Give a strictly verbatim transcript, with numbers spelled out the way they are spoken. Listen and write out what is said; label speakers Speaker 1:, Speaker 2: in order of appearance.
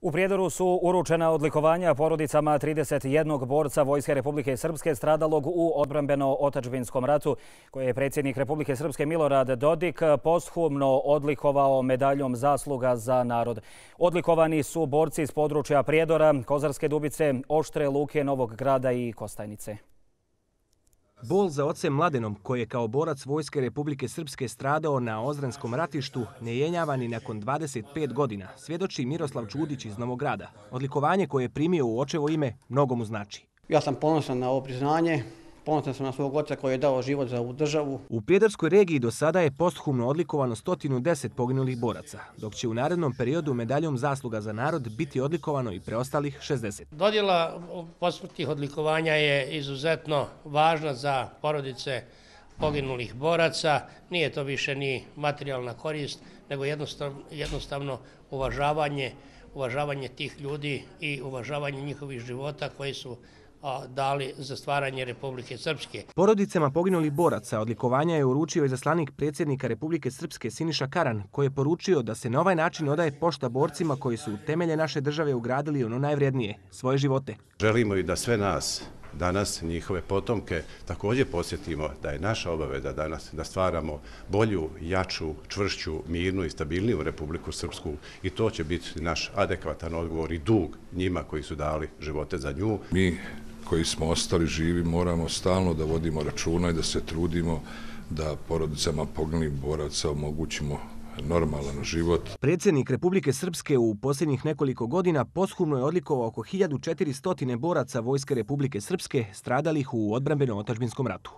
Speaker 1: U Prijedoru su uručena odlikovanja porodicama trideset jednog borca Vojske Republike Srpske stradalog u odbrambeno-otadžbinskom ratu, koje je predsjednik Republike Srpske Milorad Dodik posthumno odlikovao medaljom zasluga za narod. Odlikovani su borci iz područja Prijedora, Kozarske Dubice, Oštre Luke, Novog Grada i Kostajnice.
Speaker 2: Bol za ocem Mladenom, koji je kao borac Vojske Republike Srpske stradao na Ozranskom ratištu, ne jenjava ni nakon dvadeset pet godina, svjedoči Miroslav Čudić iz Novog Grada. Odlikovanje koje je primio u očevo ime mnogo mu znači.
Speaker 3: Ja sam ponosan na ovo priznanje. Ponosan sam na svog oca koji je dao život za ovu državu.
Speaker 2: U Prijedorskoj regiji do sada je posthumno odlikovano sto deset poginulih boraca, dok će u narednom periodu medaljom zasluga za narod biti odlikovano i preostalih šezdeset.
Speaker 4: Dodjela posmrtnih odlikovanja je izuzetno važna za porodice poginulih boraca. Nije to više ni materijalna korist, nego jednostavno, jednostavno uvažavanje, uvažavanje tih ljudi i uvažavanje njihovih života koji su dali za stvaranje Republike Srpske.
Speaker 2: Porodicama poginulih boraca odlikovanja je uručio izaslanik predsjednika Republike Srpske Siniša Karan, koji je poručio da se na ovaj način odaje pošta borcima koji su u temelje naše države ugradili ono najvrijednije, svoje živote.
Speaker 5: Želimo i da sve nas danas, njihove potomke, također posjetimo da je naša obaveza danas da stvaramo bolju, jaču, čvršću, mirnu i stabilniju Republiku Srpsku i to će biti naš adekvatan odgovor i dug njima koji su dali živote za nju.
Speaker 6: Mi koji smo ostali živi moramo stalno da vodimo računa i da se trudimo da porodicama poginulih boraca omogućimo normalan život.
Speaker 2: Predsjednik Republike Srpske u posljednjih nekoliko godina posthumno je odlikovao oko hiljadu četiristo boraca Vojske Republike Srpske stradalih u odbrambeno-otadžbinskom ratu.